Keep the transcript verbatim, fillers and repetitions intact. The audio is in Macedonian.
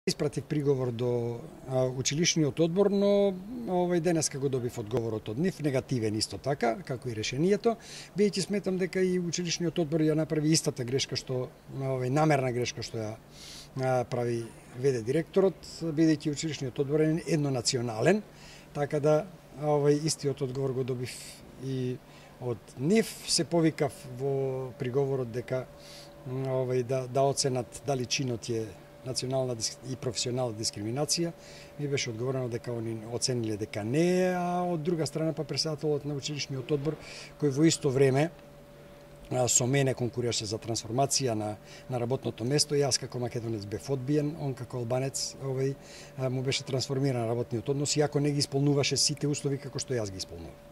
Испратив приговор до а, училишниот одбор, но овој денеска го добив одговорот од нив, негативен исто така, како и решението, бидејќи сметам дека и училишниот одбор ја направи истата грешка што овој намерна грешка што ја а, прави веде директорот, бидејќи училишниот одбор е еднонационален, така да овој истиот одговор го добив и од нив. Се повикав во приговорот дека овој да да оценат дали чинот е национална и професионална дискриминација. Ми беше одговорено дека они оцениле дека не е, а од друга страна па претседателот на училишниот одбор, кој во исто време со мене конкурираше за трансформација на на работното место, јас како македонец бев одбиен, он како албанец овој му беше трансформиран работниот однос, иако не ги исполнуваше сите услови како што јас ги исполнувам.